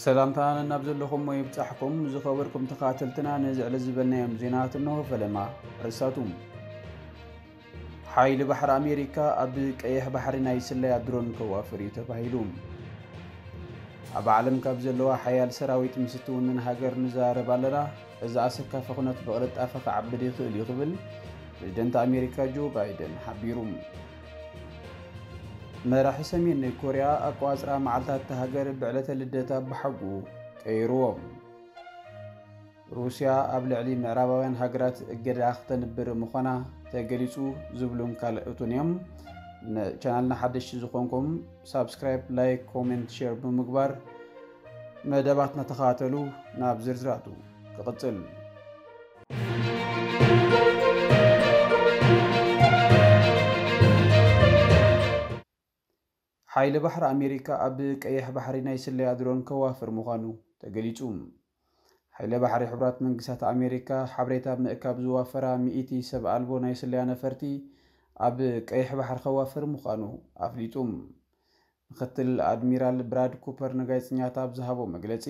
ሰላምታ ነናብ ዘለኹም ይብጻሕኩም ዝኸበርኩም ተኻተልትና፣ ነዚ ዕለት ዝበልናዮም ዜናት እንሆ ፈለማ። ርእሳቱም። ሓይሊ ባሕሪ ኣሜሪካ ኣብ ቀይሕ ባሕሪ ናይ ስለያ ድሮን ከዋፍር እዩ ተባሂሉ። ኣብ ዓለም ካብ ዘለዋ ሓያል ሰራዊት ምስ እትውንን ሃገር ንዛረብ ኣለና። እዚ ኣሰካፊ ኩነት ብቕልጣፈ ክዓብድ ይኽእል እዩ ክብል ፕሬዝደንት ኣሜሪካ ጆ ባይደን ሓቢሩ። መራሒ ሰሜን ኮርያ ኣቋጽራ መዓልታት እታ ሃገር ብዕለተ ልደታ ብሓጉ ቀይርዎ። ሩስያ ኣብ ልዕሊ ምዕራባውያን ሃገራት እገዳ ክተንብር ምዃና ተገሊጹ ዝብሉን ካልኦትን እዮም። ንቻናልና ሓደሽቲ ዝኾንኩም ሳብስክራይብ፣ ላይክ፣ ኮሜንት፣ ሼር ብምግባር መደባትና ተኸታተሉ። ናብ ዝርዝራቱ ክቕጽል። ሓይሊ ባሕሪ ኣሜሪካ ኣብ ቀይሕ ባሕሪ ናይ ስለያ ድሮን ከዋፍር ምዃኑ ተገሊጹ። ሓይሊ ባሕሪ ሕቡራት መንግስታት ኣሜሪካ ሓበሬታ ምእካብ ዝዋፈራ ሚእቲ ሰብ ኣልቦ ናይ ስለያ ነፈርቲ ኣብ ቀይሕ ባሕሪ ከዋፍር ምዃኑ ኣፍሊጡ። ምክትል ኣድሚራል ብራድ ኩፐር ንጋዜጠኛታት ኣብ ዝሃቦ መግለጺ፣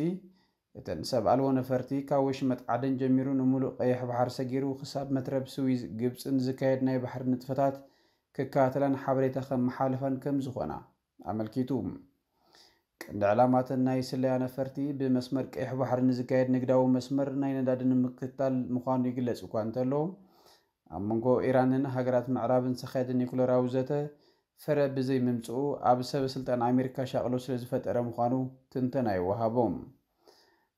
እተን ሰብ ኣልቦ ነፈርቲ ካብ ወሽመጥ ዓደን ጀሚሩ ንምሉእ ቀይሕ ባሕሪ ሰጊሩ ክሳብ መትረብ ስዊዝ ግብጽን ዝካየድ ናይ ባሕሪ ንጥፈታት ክከታተላን ሓበሬታ ከመሓላልፋን ከም ዝኾና ኣመልኪቱ። ቀንዲ ዕላማተን ናይ ስለያ ነፈርቲ ብመስመር ቀይሕ ባሕሪ ንዝካየድ ንግዳዊ መስመር ናይ ነዳዲ ንምክትታል ምዃኑ ይግለጽ እኳ እንተሎ፣ ኣብ መንጎ ኢራንን ሃገራት ምዕራብን ዝካየድ ኒኩለራዊ ዘተ ፍረ ብዘይምምጽኡ ኣብ ሰበ ስልጣን ኣሜሪካ ሻቕሎ ስለ ዝፈጠረ ምዃኑ ትንተና ይወሃቦ።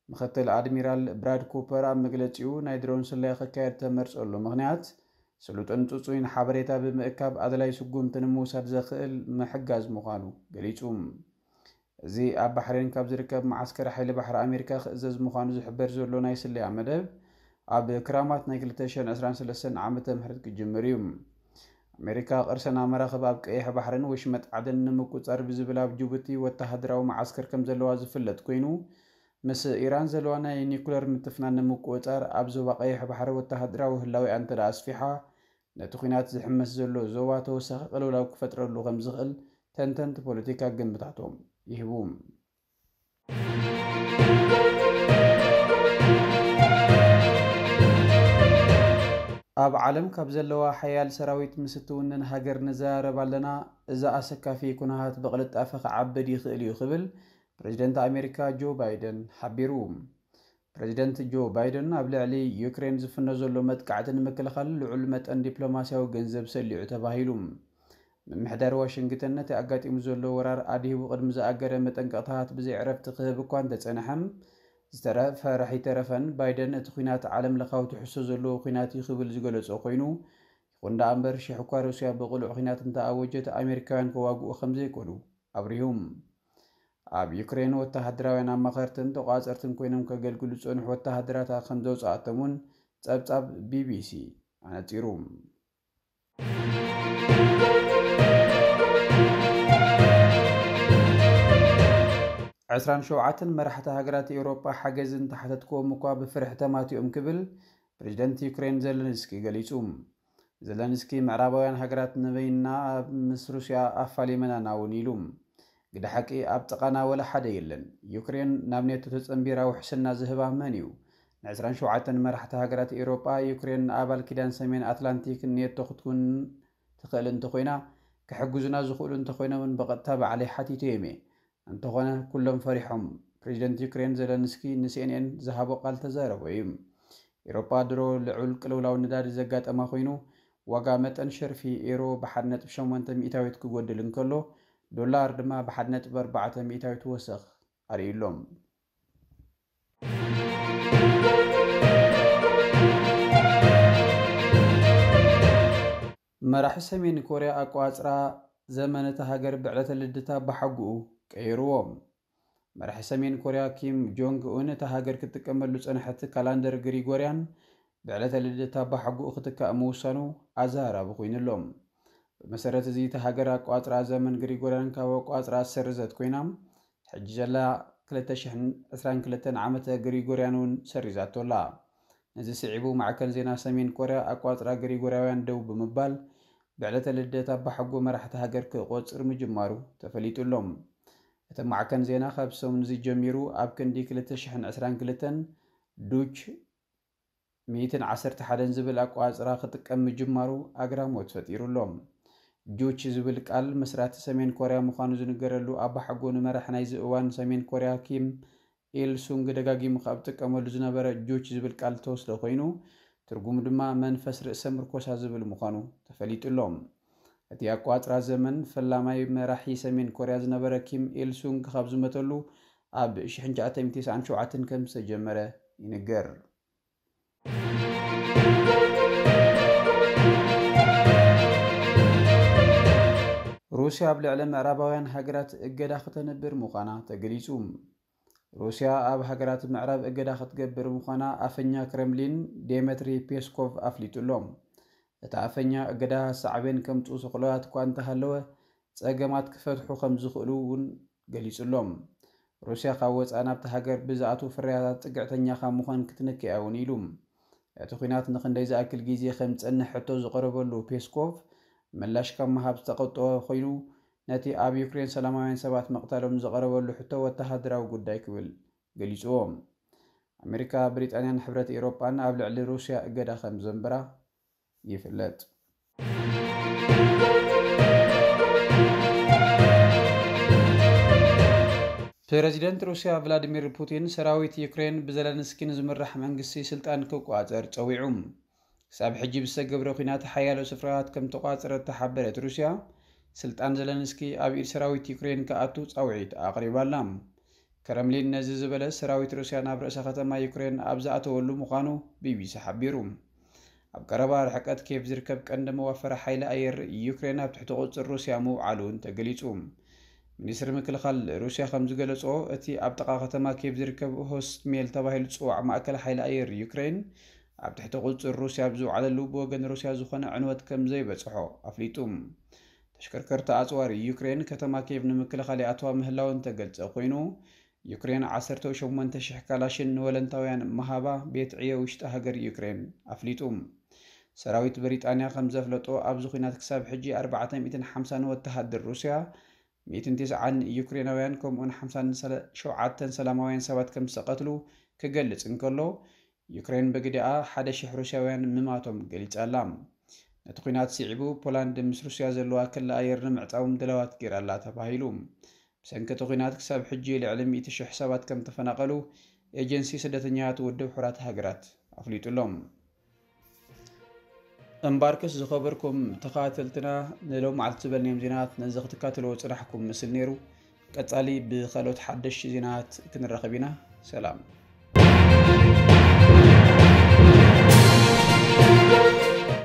ምክትል ኣድሚራል ብራድ ኩፐር ኣብ መግለጺኡ፣ ናይ ድሮን ስለያ ክካየድ ተመርጸሉ ምኽንያት ስሉጥን ጽጹይን ሓበሬታ ብምእካብ ኣድላይ ስጉምቲ ንምውሳድ ዘኽእል ምሕጋዝ ምዃኑ ገሊጹ። እዚ ኣብ ባሕሬን ካብ ዝርከብ መዓስከር ሓይሊ ባሕሪ ኣሜሪካ ክእዘዝ ምዃኑ ዝሕበር ዘሎ ናይ ስለያ መደብ፣ ኣብ ክራማት ናይ ክልተ ሽሕን ዕስራን ሰለስተን ዓመተ ምህረት ክጅምር እዩ። ኣሜሪካ ቅርሰና መራኽብ ኣብ ቀይሕ ባሕርን ወሽመጥ ዓደን ንምቁጻር ብዝብል ኣብ ጅቡቲ ወተሃደራዊ መዓስከር ከም ዘለዋ ዝፍለጥ ኮይኑ፣ ምስ ኢራን ዘለዋ ናይ ኒኩለር ምትፍናን ንምቁጽጻር ኣብ ዞባ ቀይሕ ባሕሪ ወተሃደራዊ ህላዌኣ እንተ ደኣ ኣስፊሓ፣ ነቲ ኲናት ዝሕመስ ዘሎ ዞባ ተወሳኺ ቅልውላው ክፈጥረሉ ከም ዝኽእል ተንተንቲ ፖለቲካ ግምታቶም ይህቡ። ኣብ ዓለም ካብ ዘለዋ ሓያል ሰራዊት ምስ እትውንን ሃገር ንዘራረብ ኣለና። እዚ ኣሰካፊ ኩነታት ብቕልጣፈ ክዓብድ ይኽእል እዩ ክብል ፕሬዝደንት ኣሜሪካ ጆ ባይደን ሓቢሩ። ፕሬዝደንት ጆ ባይደን ኣብ ልዕሊ ዩክሬን ዝፍኖ ዘሎ መጥቃዕቲ ንምክልኻል ልዑል መጠን ዲፕሎማስያዊ ገንዘብ ሰሊዑ ተባሂሉ። ምምሕዳር ዋሽንግተን ነቲ ኣጋጢሙ ዘሎ ወራር ኣድሂቡ ቅድሚ ዝኣገደ መጠንቀቕታታት ብዘይ ዕረፍቲ ክህብ እኳ እንተጸንሐ፣ ዝተረፈ ራሕ ይተረፈን ባይደን እቲ ኲናት ዓለም ለኻዊ ትሕዝቶ ዘለዎ ኲናት እዩ ክብል ዝገለጾ ኮይኑ፣ ይኹን ደኣ እምበር ሽሕ እኳ ሩስያ ብቕሉዕ ኲናት እንተኣወጀት ኣሜሪካውያን ከዋግኡ ከም ዘይኮኑ ኣብሪሁ። ኣብ ዩክሬን ወተሃደራውያን ኣማኸርትን ተቋጸርትን ኮይኖም ከገልግሉ ዝጸንሑ ወተሃደራታ ከም ዘውጻኣቶም እውን ጸብጻብ ቢቢሲ ኣነጺሩ። ዕስራን ሸውዓተን መራሕቲ ሃገራት ኤውሮጳ ሓገዝ እንተሓተትክዎም እኳ ብፍርሒ ተማቲኦም ክብል ፕሬዝደንት ዩክሬን ዘለንስኪ ገሊጹ። ዘለንስኪ፣ ምዕራባውያን ሃገራት ንበይንና ኣብ ምስ ሩስያ ኣፋሊመናና እውን ኢሉ። ግደ ሓቂ ኣብ ጥቓና ወላ ሓደ የለን። ዩክሬን ናብ ኔቶ ተጸንቢራ ውሕስና ዝህባ መን እዩ? ንዕስራን ሸውዓተን መራሕቲ ሃገራት ኤውሮጳ፣ ዩክሬን ንኣባል ኪዳን ሰሜን ኣትላንቲክ ኔቶ ክትኩን ትኽእል እንተኾይና፣ ክሕግዙና ዝኽእሉ እንተኾይኖምን ብቐጥታ ባዕለይ ሓቲተዮም እየ። እንተኾነ ኩሎም ፈሪሖም። ፕሬዚደንት ዩክሬን ዘለንስኪ ንሲኤንኤን ዝሃቦ ቃል ተዛረቦ እዩ። ኤውሮጳ ድሮ ልዑል ቅልውላው ነዳዲ ዘጋጠማ ኮይኑ፣ ዋጋ መጠን ሸርፊ ኤሮ ብሓደ ነጥቢ ሸሞንተ ሚእታዊት ክጎድል እንከሎ፣ ዶላር ድማ ብሓደ ነጥቢ ኣርባዕተ ሚእታዊት ወሰኽ ኣርእዩ ኣሎ። መራሒ ሰሜን ኮርያ ኣቋጽራ ዘመን እታ ሃገር ብዕለተ ልደታ ብሓጉኡ ቀይርዎ። መራሒ ሰሜን ኮርያ ኪም ጆንግ ኡን እታ ሃገር ክትጥቀመሉ ዝጸንሐት ካላንደር ግሪጎርያን ብዕለተ ልደታ ብሓጉኡ ክትካእ ምውሳኑ ኣዘራራቢ ኮይኑ ኣሎ። ብመሰረት እዚ እታ ሃገር ኣቋጽራ ዘመን ግሪጎርያን ካብ ኣቋጽራ ዝሰረዘት ኮይና፣ ሕጂ ዘላ ክልተ ሽሕን ዕስራን ክልተን ዓመተ ግሪጎርያን እውን ሰሪዛቶ ኣላ። ነዚ ስዒቡ ማዕከን ዜና ሰሜን ኮርያ ኣቋጽራ ግሪጎርያውያን ደው ብምባል ብዕለተ ልደት ኣባሓጎ መራሕቲ ሃገር ክቖጽር ምጅማሩ ተፈሊጡ ኣሎ። እቲ ማዕከን ዜና ካብ ሰሙን እዚ ጀሚሩ ኣብ ክንዲ ክልተ ሽሕን ዕስራን ክልተን ዱች ሚእትን ዓሰርተ ሓደን ዝብል ኣቋጽራ ክጥቀም ምጅማሩ ኣግራሞት ፈጢሩ ኣሎ። ጁች ዝብል ቃል መስራቲ ሰሜን ኮርያ ምዃኑ ዝንገረሉ ኣባሓጎ ንመራሕ ናይዚ እዋን ሰሜን ኮርያ ኪም ኢል ሱንግ ደጋጊሙ ካብ ጥቀመሉ ዝነበረ ጁች ዝብል ቃል ተወስደ ኮይኑ፣ ትርጉሙ ድማ መንፈስ ርእሰ ምርኮሳ ዝብል ምዃኑ ተፈሊጡ ኣሎ። እቲ ኣቋጽራ ዘመን ፈላማይ መራሒ ሰሜን ኮርያ ዝነበረ ኪም ኢል ሱንግ ካብ ዝመተሉ ኣብ ሽሕን ትሽዓተ ሚእትን ተስዓን ሸውዓተን ከም ዝተጀመረ ይንገር። ሩስያ ኣብ ልዕሊ ምዕራባውያን ሃገራት እገዳ ክተንብር ምዃና ተገሊጹ። ሩስያ ኣብ ሃገራት ምዕራብ እገዳ ክትገብር ምዃና ኣፈኛ ክረምሊን ዴመትሪ ፔስኮቭ ኣፍሊጡ ኣሎ። እቲ ኣፈኛ እገዳ ሳዕቤን ከምጽኡ ስቕሎታት እኳ እንተሃለወ፣ ጸገማት ክፈትሑ ከም ዝኽእሉ እውን ገሊጹ ኣሎ። ሩስያ ካብ ወጻኢ ናብቲ ሃገር ብዝኣትዉ ፍርያታት ጽግዕተኛ ካብ ምዃን ክትንከ እያ እውን ኢሉ። እቲ ኲናት ንኽንደይ ዝኣክል ግዜ ከም ዝጸንሕ ሕቶ ዝቐረበሉ ፔስኮቭ ምላሽ ካብ ምሃብ ዝተቐጠወ ኮይኑ፣ ነቲ ኣብ ዩክሬን ሰላማውያን ሰባት ምቕታሎም ዝቐረበሉ ሕቶ ወተሃደራዊ ጉዳይ ክብል ገሊጽዎ። ኣሜሪካ፣ ብሪጣንያን ሕብረት ኤውሮጳን ኣብ ልዕሊ ሩስያ እገዳ ከም ዘንበራ ይፍለጥ። ፕረዚደንት ሩስያ ቭላዲሚር ፑቲን ሰራዊት ዩክሬን ብዘለንስኪ ንዝምራሕ መንግስቲ ስልጣን ክቆጻጸር ጸዊዑ። ክሳብ ሕጂ ብዝተገብረ ኲናት ሓያሎ ስፍራታት ከም ተቋጸረት ተሓበረት ሩስያ፣ ስልጣን ዘለንስኪ ኣብ ኢድ ሰራዊት ዩክሬን ክኣቱ ጻውዒት ኣቕሪባ ኣላ። ክረምሊን ነዚ ዝበለ ሰራዊት ሩስያ ናብ ርእሰ ከተማ ዩክሬን ኣብ ዝኣተወሉ ምዃኑ ቢቢሲ ሓቢሩ። ኣብ ቀረባ ርሕቀት ኬቭ ዝርከብ ቀንዲ መዋፈሪ ሓይሊ ኣየር ዩክሬን ኣብ ትሕቲ ቁጽጽር ሩስያ ምውዓሉ እውን ተገሊጹ። ሚኒስትሪ ምክልኻል ሩስያ ከም ዝገለጾ፣ እቲ ኣብ ጥቓ ከተማ ኬቭ ዝርከብ ሆስሜል ተባሂሉ ዝጽዋዕ ማእከል ሓይሊ ኣየር ዩክሬን ኣብ ትሕቲ ቁጽጽር ሩስያ ኣብ ዝውዓለሉ ብወገን ሩስያ ዝኾነ ዕንወት ከም ዘይበጽሖ ኣፍሊጡ። ተሽከርከርቲ ኣጽዋር ዩክሬን ከተማ ኬቭ ንምክልኻል ይኣትዋ ምህላወን ተገልጸ ኮይኑ፣ ዩክሬን ዓሰርተ ሸሞንተ ሽሕ ካላሽን ንወለንታውያን ምሃባ ቤት ዕዮ ውሽጢ ሃገር ዩክሬን ኣፍሊጡ። ሰራዊት ብሪጣንያ ከም ዘፍለጦ፣ ኣብዚ ኲናት ክሳብ ሕጂ ኣርባዕተ ሚእትን ሓምሳን ወተሃደር ሩስያ፣ ሚእትን ተስዓን ዩክሬናውያን ከምኡውን ሓምሳን ሸውዓተን ሰላማውያን ሰባት ከም ዝተቐትሉ ክገልጽ እንከሎ፣ ዩክሬን ብግዲኣ ሓደ ሽሕ ሩስያውያን ምማቶም ገሊጻ ኣላ። ነቲ ኲናት ስዒቡ፣ ፖላንድ ምስ ሩስያ ዘለዋ ክሊ ኣየር ንምዕጻዎም ድላዋት ገይራ ኣላ ተባሂሉ። ብሰንኪ እቲ ኲናት ክሳብ ሕጂ ልዕሊ ሚእቲ ሽሕ ሰባት ከም ተፈናቐሉ ኤጀንሲ ስደተኛታት ውድብ ሕቡራት ሃገራት ኣፍሊጡ ኣሎ። እምበኣርከስ ዝኸበርኩም ተኸታተልትና፣ ንሎም መዓልቲ ዝበልናዮም ዜናታት ነዚ ክትከታተልዎ ዝጸናሕኩም ምስል ነይሩ። ቀጻሊ ብኻልኦት ሓደሽቲ ዜናታት ክንራኸብ ኢና። ሰላም።